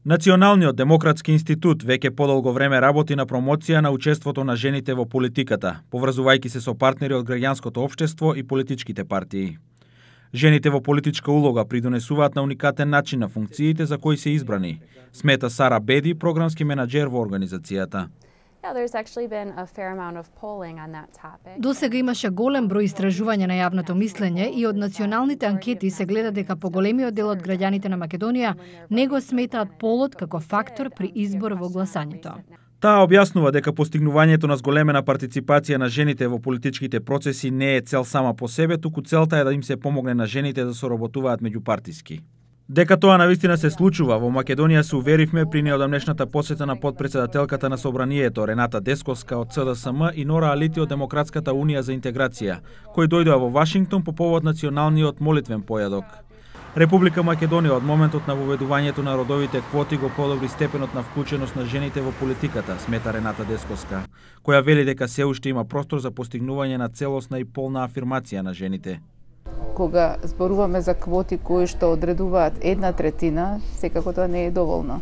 Националниот демократски институт веќе подолго време работи на промоција на учеството на жените во политиката, поврзувајќи се со партнери од граѓанското општество и политичките партии. Жените во политичка улога придонесуваат на уникатен начин на функциите за кои се избрани, смета Сара Беди, програмски менаџер во организацијата. До сега имаше голем број истражувања на јавното мислење и од националните анкети се гледа дека поголемиот дел од граѓаните на Македонија не го сметаат полот како фактор при избор во гласањето. Таа објаснува дека постигнувањето на зголемена партиципација на жените во политичките процеси не е цел сама по себе, туку целта е да им се помогне на жените да соработуваат меѓупартиски. Дека тоа навистина се случува во Македонија се уверивме при неодамнешната посета на подпредседателката на Собранието Рената Десковска од СДСМ и Нора Алити од Демократската унија за интеграција, кои дојдоа во Вашингтон по повод националниот молитвен појадок. Република Македонија од моментот на воведувањето на родовите квоти го подобри степенот на вклученост на жените во политиката, смета Рената Десковска, која вели дека се уште има простор за постигнување на целосна и полна афирмација на жените. Кога зборуваме за квоти кои што одредуваат 1/3, секако тоа не е доволно.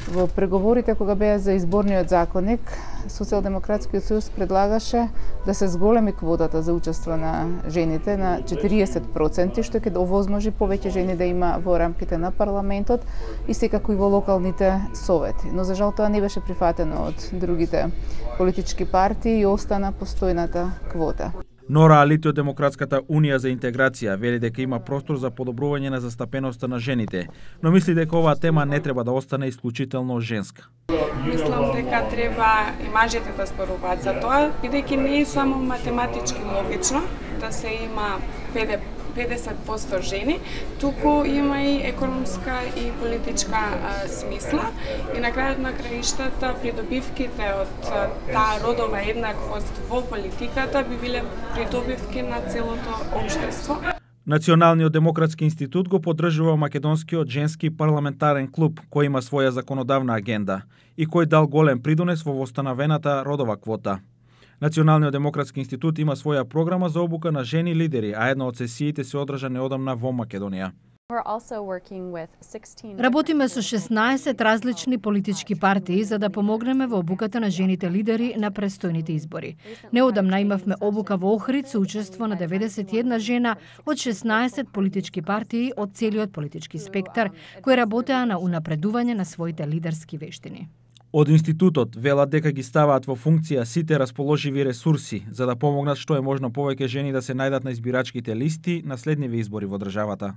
Во преговорите кога беа за изборниот законник, Социјалдемократскиот сојуз предлагаше да се зголеми квотата за учество на жените на 40%, што ќе овозможи повеќе жени да има во рамките на парламентот и секако и во локалните совети. Но за жал тоа не беше прифатено од другите политички партии и остана постојната квота. Нора Алити од Демократската унија за интеграција вели дека има простор за подобрување на застапеноста на жените, но мисли дека оваа тема не треба да остане исклучително женска. Мислам дека треба и мажите да зборуваат за тоа, бидејќи не е само математички логично да се има 50% жени, туку има и економска и политичка смисла и на крајот на краиштата придобивките од таа родова еднаквост во политиката би биле придобивки на целото општество. Националниот демократски институт го поддржува Македонскиот женски парламентарен клуб, кој има своја законодавна агенда и кој дал голем придонес во востановената родова квота. Националниот демократски институт има своја програма за обука на жени лидери, а една од сесиите се одржа неодамна во Македонија. Работиме со 16 различни политички партии за да помогнеме во обуката на жените лидери на престојните избори. Неодамна имавме обука во Охрид со учество на 91 жена од 16 политички партии од целиот политички спектар, кои работеа на унапредување на своите лидерски вештини. Од институтот велат дека ги ставаат во функција сите расположиви ресурси за да помогнат што е можно повеќе жени да се најдат на избирачките листи на следниве избори во државата.